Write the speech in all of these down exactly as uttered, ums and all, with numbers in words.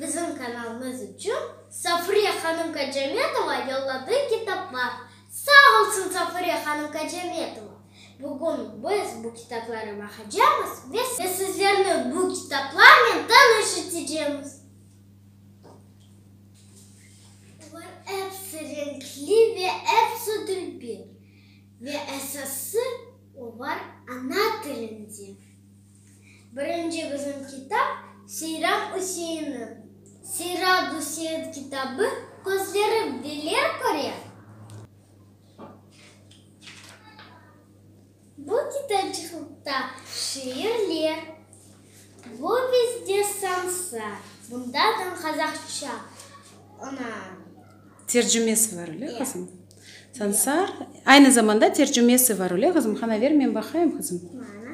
Bizim kanalımız içün Safure hanım Kacametova yolladı kitaplar. Sağ olsun Safure hanım Kacametova! Bugün biz bu kitaplara baqacamız ve sizlerni bu kitaplarnen tanış etecemiz. Olar episi renkli ve episi dülber. Ve esası, olar ana tilinde. Birinci bizim kitap Seyran Üseinniñ Seyran Üsein kitabı Közlerim neler köre? Bu kitapçıqta şiirler. Bu bizde Sansar. Bunda da qazahça ana. Tercümesi var, öyle, qızım? Sansar. Aynı zamanda tercümesi var, öyle, qızım? Qana, ver, men baqayım, qızım. Mana.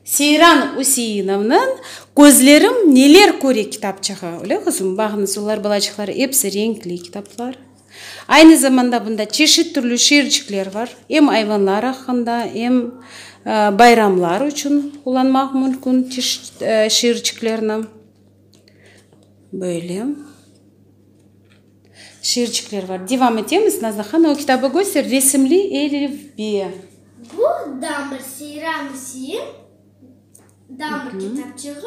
Seyran Üseinovnıñ Közlerim neler köre kitapçığı, öyle, qızım? Baqıñız, olar, balaçıqlar, episi renkli kitaplar. Aynı zamanda bunda çeşit türlü şiircikler bar, em ayvanlar aqqında, em bayramlar içün qullanmaq mümkün çeşit şiirciklerni. Böyle şiircikler bar. Devam etemiz. Nazlı hanım, o kitabı köster, Resimli elifbe. Bu Damır Seyran Üsein Damır kitapçığı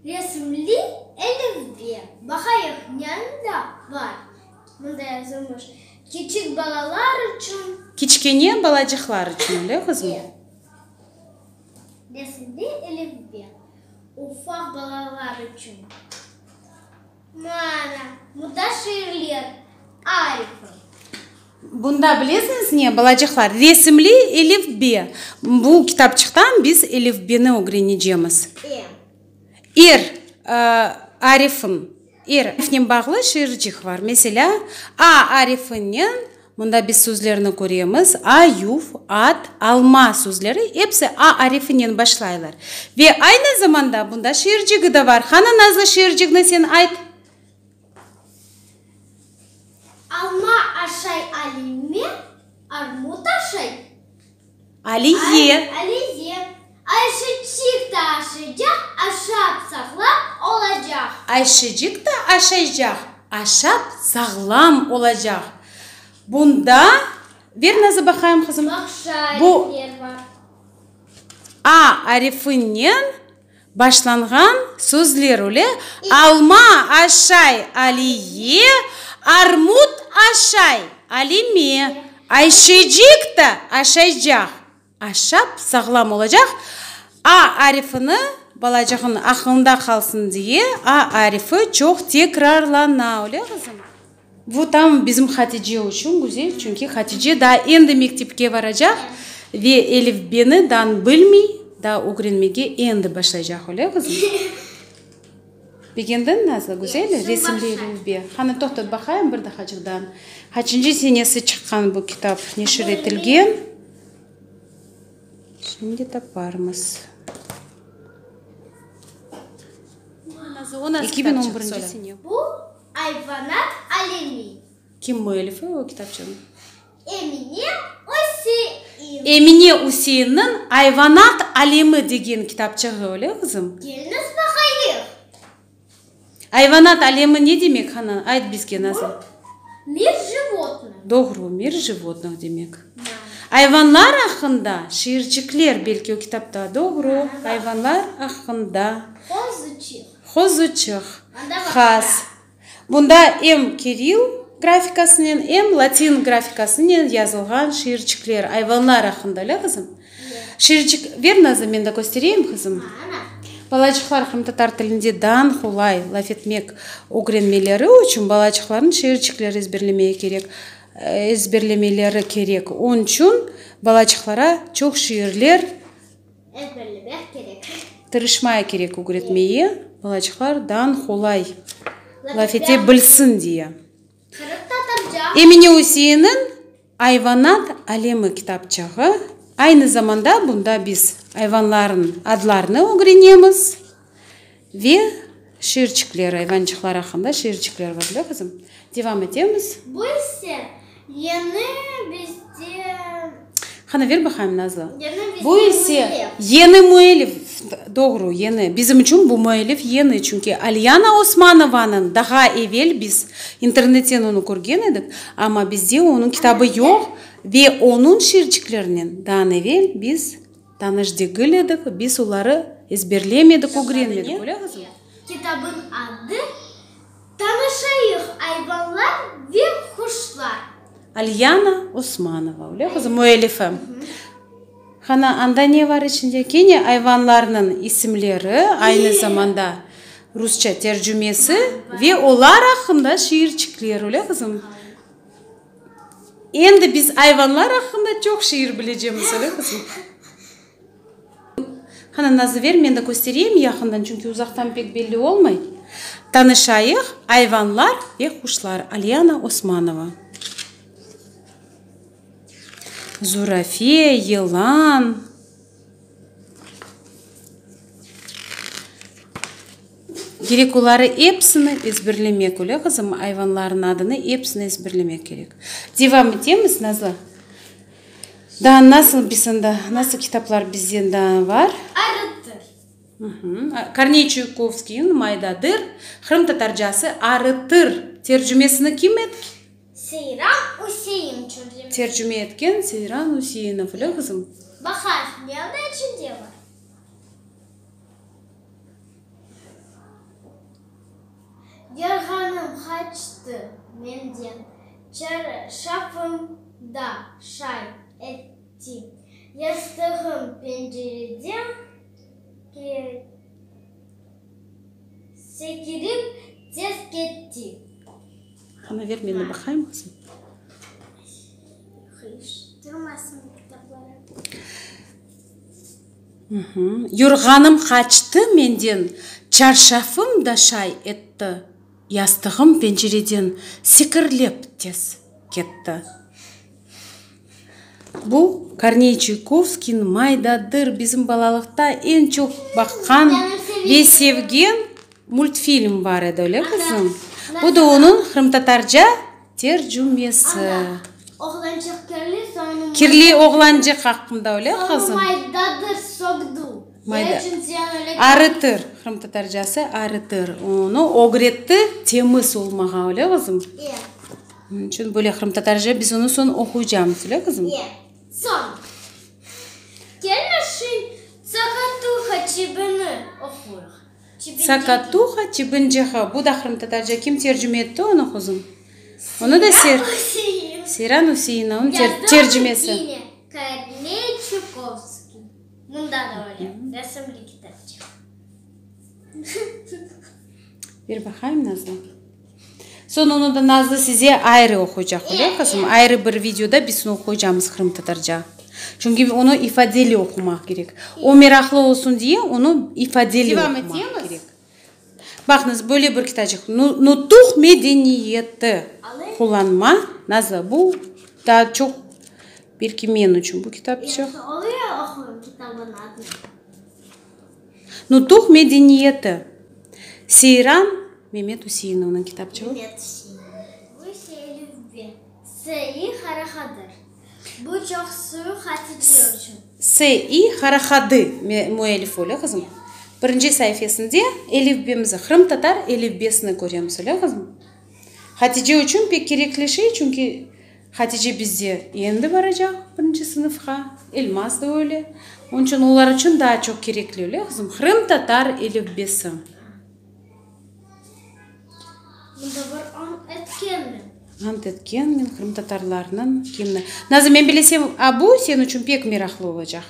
Resimli elifbe. Baqayıq, ne anda bar? Mında yazılmış, Kiçik balalar içün. Kiçkene balacıqlar içün, öyle, qızım? Resimli elifbe. Ufaq balalar içün. Mana, mında şiirler, arifi. Bunda bilesiñiz ne, balacıqlar, Resimli elifbe. Bu kitapçıqtan biz elifbeni ögrenecemiz. E. Er arifin, er arifnen bağlı şiircik bar. Meselâ, A arifinen mında biz sözlerni köremiz, ayuv, at, alma sözleri episi A arifinen başlaylar. Ve aynı zamanda bunda şiircigi de bar. Qani, Nazlı, şiircigni sen ayt. Alma aşay Alime, armut aşay Aliye. Aliye. Ayşeçik de aşaycaq, aşap sağlam olacaq. Ayşeçik de aşaycaq, aşap sağlam olacaq. Bunda, ver, Nazlı, baqayım, qızım. Baqşa Bu arifler bar. A arifinen başlanğan sözler öyle. Alma aşay Aliye, armut aşay Alime. Ayşeçik de aşaycaq, aşap sağlam olacaq. A arifini balacığın aqlında qalsın diye, A arifi çoq tekrarlana. Öyle, qızım? Bu tam bizim Hatice içün güzel, çünki Hatice daa endi mektepke baracaq ve elifbeni daa bilmey, daa ögrenmege endi başlaycaq, öyle, qızım? Begendiñ, Nazlı, güzel resimli elifbe. Qani, toqtat, baqayım bir dahacıqtan. Qaçıncı senesi çıqqan bu kitap, neşir etilgen? Şimdi taparmız. Eki biñ on birinci sene. Bu Ayvanat alemi. Kim müellifi o kitapçınıñ? Emine Üsein. Emine Üseinniñ Ayvanat alemi degen kitapçığı, öyle, qızım? Keliñiz baqayıq. Ayvanat alemi ne demek, qani, ayt bizge, Nazlı. Мир животных. Doğru, мир животных demek. Ayvanlar aqqında şiircikler belki o kitapta, doğru, ayvanlar aqqında. Qozuçıq. Qozuçıq. Anda Has. Bunda em kirill grafikasınen, em latin grafikasınen yazılğan şiircikler ayvanlar aqqında, öyle, qızım? Şiircik, ver, Nazlı, men de köstereyim, qızım. Mana. Balaçıqlar qırımtatar tilinde daa qolay laf etmek ögrenmeleri içün balaçıqlarnıñ şiircikler ezberlemeye kerek, ezberlemeleri kerek. Onıñ içün balaçıqlara çoq şiirler Ezberlemek kerek. Tırışmaya kerek ögretmeye, balaçıqlar daa qolay laf ete bilsin diye. Qırımtatarca. Emine Üseinniñ Ayvanat alemi kitapçığı. Aynı zamanda bunda biz ayvanlarnıñ adlarını ögrenemiz ve şiircikler, ayvançıqlar aqqında şiircikler bar, öyle, qızım? Devam etemiz. Bu ise yeni bizde Qani, ver baqayım, Nazlı. Yeni bizde Bu ise müellif. Yeni müellif. Doğru, yeñi. Bizim içün bu müellif yeñi, çünki Alyana Osmanovanıñ daha evel biz internetten onı körgen edik, amma bizde onıñ kitabı yoq ve onıñ şiirciklerinen daa evel biz tanış degil edik, biz oları ezberlemedik, ögrenmedik. Öyle, qızım? Kitabıñ adı Tanışayıq, ayvanlar ve quşlar. Alyana Osmanova, öyle, qızım, müellifi. Qana, anda ne bar içinde? Kene ayvanlarnıñ isimleri, aynı zamanda rusça tercümesi ve olar aqqında şiirçikler, öyle, qızım? Endi biz ayvanlar aqqında çoq şiir bilecemiz, öyle, qızım? Qana, Nazlı, ver, men de köstereyim yaqından, çünki uzaqtan pek belli olmay. Tanışayıq, ayvanlar ve quşlar, Alyana Osmanova. Zurafe, yılan. Kerek oları episini ezberlemek, öyle, qızım? Ayvanlarnıñ adını episini ezberlemek kerek. Devam etemiz, Nazlı. Daa nasıl biz anda, nasıl kitaplar bizde daa bar? Arıtır. Korney Çuikovskiyniñ Maydadır, qırımtatarcası Arıtır tercümesini kim etken? Seyran Üsein tercüme. Tercüme etken Seyran Üseinov, öyle, qızım? Baqayıq, ne anda içinde bar? Yorğanım qaçtı menden, çarşafım da şay etti, yastığım pencereden sekirip tez ketti. Qana, ver, men de baqayım, qızım. Qıyıştırmasın kitapları. Yorğanım qaçtı menden, çarşafım da şay etti, yastığım pencereden sekirlep tez ketti. Bu Korney Çuikovskiyniñ Maydadır, bizim balalıqta eñ çoq baqqan ve sevgen multfilm bar edi, öyle, qızım? Bu da onıñ qırımtatarca tercümesi. Oğlançıq kirli, soñ Kirli oğlançıq aqqında, öyle, qızım? Maydadır sögdü. Mayda. Arıtır, qırımtatarcası arıtır. Onı ögretti temiz olmağa, öyle, qızım? Onıñ içün böyle qırımtatarca biz onı soñ oquycamız, öyle, qızım? Soñ. Kelmeşin Tsakatuha çibini oquyıq. Tsakatuha çibinçığı. Bu da qırımtatarca. Kim tercüme etti onı, qızım? Onı da Ser Seyran Üseinov, onıñ tercümesi. Korney Çukovskiy. Mında da öyle, resimli kitapçıq. Ber baqayım, Nazlı. Soñ onı da Nazlı size ayrı oquycaq, öyle, qızım? Ayrı bir videoda biz onı oquycamız qırımtatarca. Çünki onı ifadeli oqumaq kerek. O meraqlı olsun diye, onı ifadeli oqumaq kerek. Baqıñız, böyle bir kitapçıq. Nutuq medeniyeti. Qullanma. Nazlı, bu daa çoq belki men içün bu kitapçıq. Nutuq medeniyeti. Seyran Memet Üseinovnıñ kitapçığı. S İ Harahadı müellif, öyle, qızım? Birinci saifesinde elifbemizi, qırımtatar elifbesini köremiz, öyle, qızım? Hatice içün pek kerekli şey, çünki Hatice bizde endi baracaq birinci sınıfqa, Elmaz da öyle. Onıñ içün olar içün daa çoq kerekli, öyle, qızım? Qırımtatar elifbesi. Mında bir ant etkenmen. Ant etkenmen qırımtatarlarnıñ gimni. Nazım, men bilesem, a bu sen içün pek meraqlı olacaq.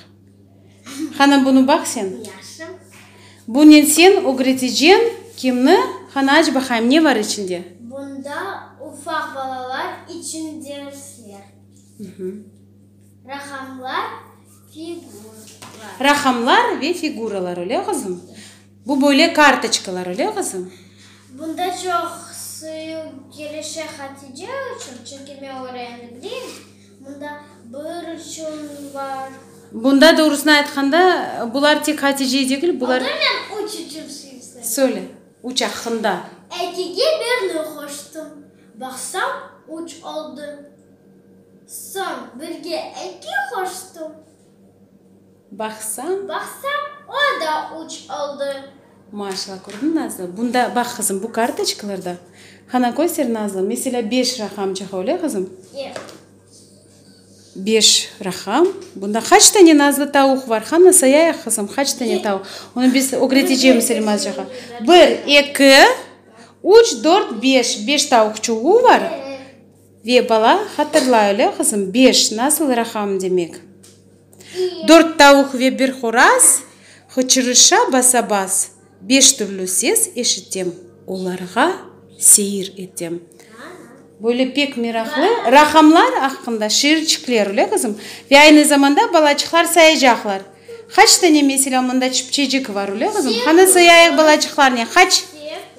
Qana, bunı baq sen. Yahşı. Bunen sen ögreteceñ kimni? Qana, aç baqayım, ne bar içinde? Bunda ufaq balalar içün dersler. Raqamlar, figuralar. Raqamlar ve figuralar, öyle, qızım? Bu böyle kartoçkalar, öyle, qızım? Bunda çoq suyu kelişe Hatice içün, çünki men oranı bileyim. Bunda bir içün bar. Bunda, doğrusını aytqanda, bular tek Hatice degil, bular. Onda men üç içün suyu Söyle, üç aqqında. Ekige birni qoştım, baqsam, üç oldı. Soñ birge eki qoştım. Baqsam. Baqsam, o da üç oldı. Maşallah, kördiñ, Nazlı? Bunda, baq, qızım, bu kartoçkalarda, qana, köster, Nazlı, meselâ, beş raqamçıq, öyle, qızım? E. Beş raqam. Bunda qaç tane, Nazlı, tavuq bar? Qana, sayayıq, qızım, qaç tane tavuq? Onı biz ögretecemiz Elmazcağa. Bir, eki, üç, dört, beş. Beş tavuqçuğı bar. Ve bala hatırlay, öyle, qızım? Beş nasıl raqam demek? Dört tavuq ve bir horaz hıçırışa basa-bas. Beş türlü ses eşitem, olarğa seyir etem. Böyle pek meraqlı raqamlar aqqında şiirçikler, öyle, qızım? Ve aynı zamanda balaçıqlar sayacaqlar. Qaç tane, meselâ, mında çipçecik bar, öyle, qızım? Qana, sayayıq balaçıqlarnen. Qaç?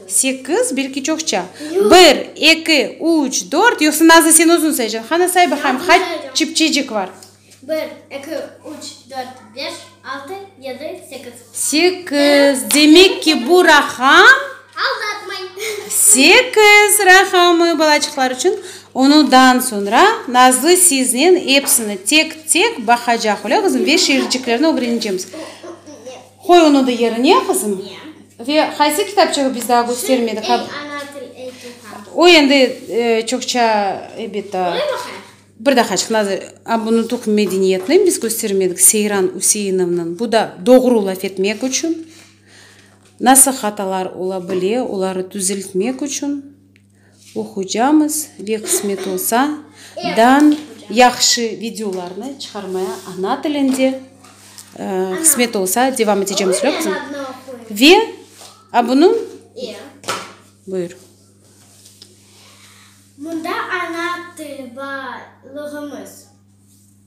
Sekiz, belki çoqça. Bir, eki, üç, dört. Yoqsa, Nazlı, sen özüñ sayacaqsıñ. Qana, say baqayım, qaç çipçecik bar? Bir, eki, üç, dört, beş, altı, yedi, sekiz. Sekiz. Demek ki, bu raqam Aldatmay. Sekiz raqamı balaçıqlar içün. Ondan soñra Nazlı siznen episini tek-tek baqacaq, öyle, qızım, ve şiirciklerni ögrenecemiz. Qoy onı da yerine, qızım. Ve qaysı kitapçığı biz daa köstermedik? Ey, ana til, ey tuvğan. O endi çoqça, elbette. Öyle baqayıq. Bir daqaçıq, Nazlı, a bunı tuq medeniyetni biz köstermedik, Seyran Üseinovnıñ. Bu da doğru laf etmek içün, nasıl hatalar ola bile, oları tüzeltmek içün oquycamız ve qısmet olsa, dan yahşı videolarnı çıqarmaya ana tilinde, qısmet olsa, devam etecemiz, öyle, qızım? Ve a bunı buyur. Mında ana til baylığımız.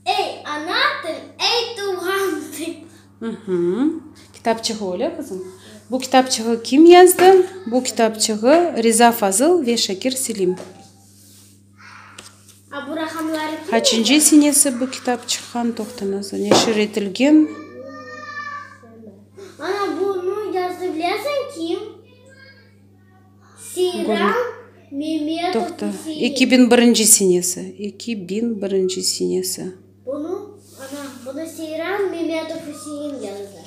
Ey, ana til, ey, tuvğan til. Kitapçığı, öyle, qızım? Bu kitapçığı kim yazdı? Bu kitapçığı Riza Fazıl ve Şakir Selim. A bu raqamları kim? Qaçıncı senesi bu kitap çıqqan? Toqta, Nazlı, neşir etilgen? Ana, bunı yazdı, bilesiñ kim? Seyran Memetov. Toqta. Üsein. Eki biñ birinci senesi. Eki biñ birinci senesi. Bunı, ana, bunı Seyran Memetov Üsein yazdı.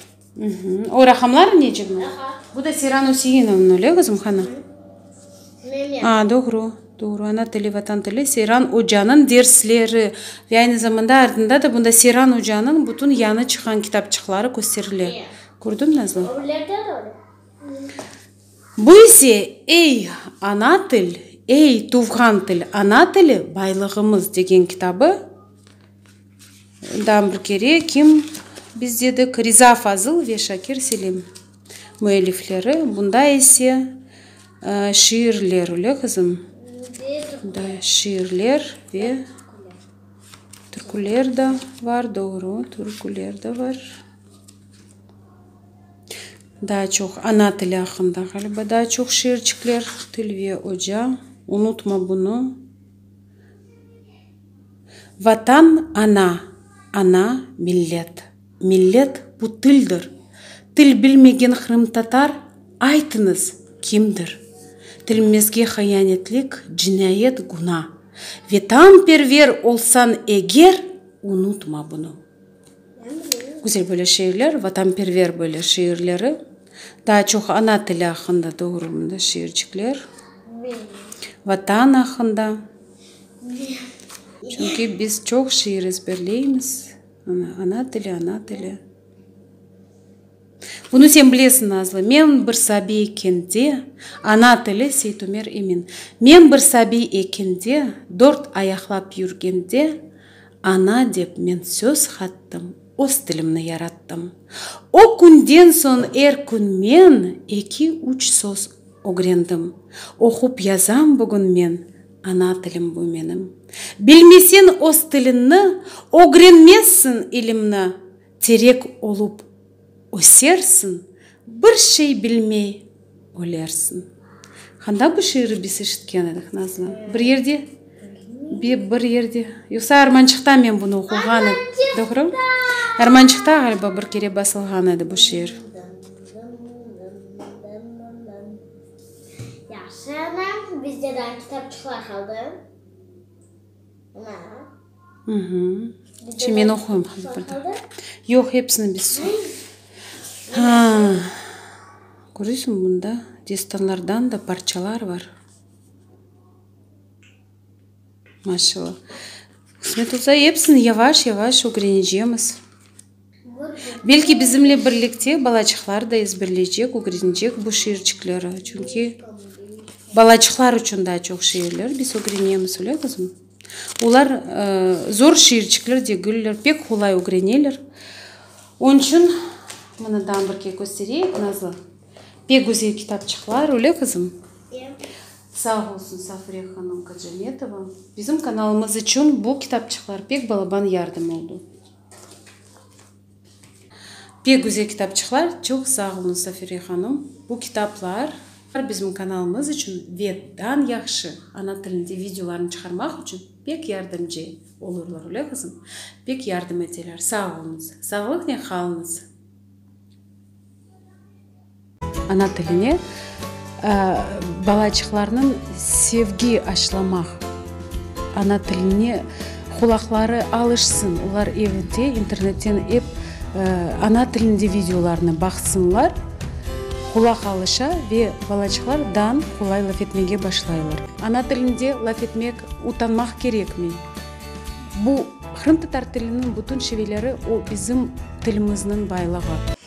O raqamlar necemi? Aha. Bu da Seyran Üseinovnıñ, öyle, qızım, qana? Memet. A, doğru, doğru. Ana tili, vatan tili, Seyran ocanıñ dersleri. Ve aynı zamanda artında da bunda Seyran ocanıñ bütün yañı çıqqan kitapçıqları kösterile. Kördiñ, Nazlı? Öylerde de öyle. Bu ise Ey, ana til, ey, tuvğan til, ana tili baylığımız degen kitabı. Daa bir kere kim biz dedik? Riza Fazıl ve Şakir Selim müellifleri. Bunda ise şiirler, öyle, qızım? Da şiirler ve türküler de bar, doğru, türküler de bar. Daa çoq ana tili aqqında, ğaliba, daa çoq şiirçikler. Til ve oca, unutma bunı. Vatan ana, ana millet. Millet bu tildir. Til bilmegen qırımtatar, aytıñız, kimdir? Tilimizge hiyanetlik, cinayet, güna. Vetanperver olsañ eger, unutma bunı. Güzel böyle şiirler, vatanperver böyle şiirleri. Daa çoq ana tili aqqında, doğru, mında şiirçikler. Vatan aqqında. Çünki biz çoq şiir ezberleymiz. Ana, ana tili, ana tili. Bunı sen bilesiñ, Nazlı. Men bir sabiy ekende, ana tili, Seytumer Emin. Men bir sabiy ekende, dört ayaqlap yürgende, ana dep men söz qattım, öz tilimni yarattım. O künden soñ er kün men eki-üç söz ögrendim. Oqup yazam bugün men, ana tilim bu menim. Bilmeseñ öz tiliñni, ögrenmezsiñ ilimni. Terek olıp ösersiñ, bir şey bilmey ölersiñ. Qanda bu şiirni biz eşitken edik, Nazlı? Bir yerde? Bir yerde. Yoqsa Armançıqta men bunı oquğan edim. Doğru? Armançıqta, ğaliba, bir kere basılğan edi bu şiir. Yahşı, ana, bizde daa kitapçıqlar qaldı. Ana. Şimdi men oquyım bir daa. Yoq, episini biz. Ha, köresiñ, bunda destanlardan da parçalar bar. Maşallah. Qısmet olsa, episini yavaş-yavaş ögrenecemiz. Belki bizimle birlikte balaçıqlar da ezberleycek, ögrenecek bu şiirçikleri. Çünki balaçıqlar içün daa çoq şiirler biz ögrenemiz, öyle qızım? Olar zor şiirçikler degiller, pek qolay ögreneler. Onıñ içün mına daa bir kere köstereyik, Nazlı. Pek güzel kitapçıqlar, öyle qızım? Sağ olsun Safure hanım Kacametova. Bizim kanalımız içün bu kitapçıqlar pek balaban yardım oldı. Pek güzel kitapçıqlar, çoq sağ oluñ Safure hanım. Bu kitaplar bizim kanalımız içün ve dan yahşı ana tilinde videolarnı çıqarmaq içün pek yardımcı olurlar, öyle qızım? Pek yardım eteler. Sağ oluñız. Sağlıqnen qalıñız. Ana tiline balaçıqlarnıñ sevgi aşlamaq, ana tiline qulaqları alışsın, olar evde internetten ep ana tilinde videolarnı baqsınlar, qulaq alışa ve balaçıqlar dan qolay laf etmege başlaylar. Ana tilinde laf etmek utanmaq kerekmey. Bu qırımtatar tiliniñ bütün şiveleri o bizim tilimizniñ baylığı.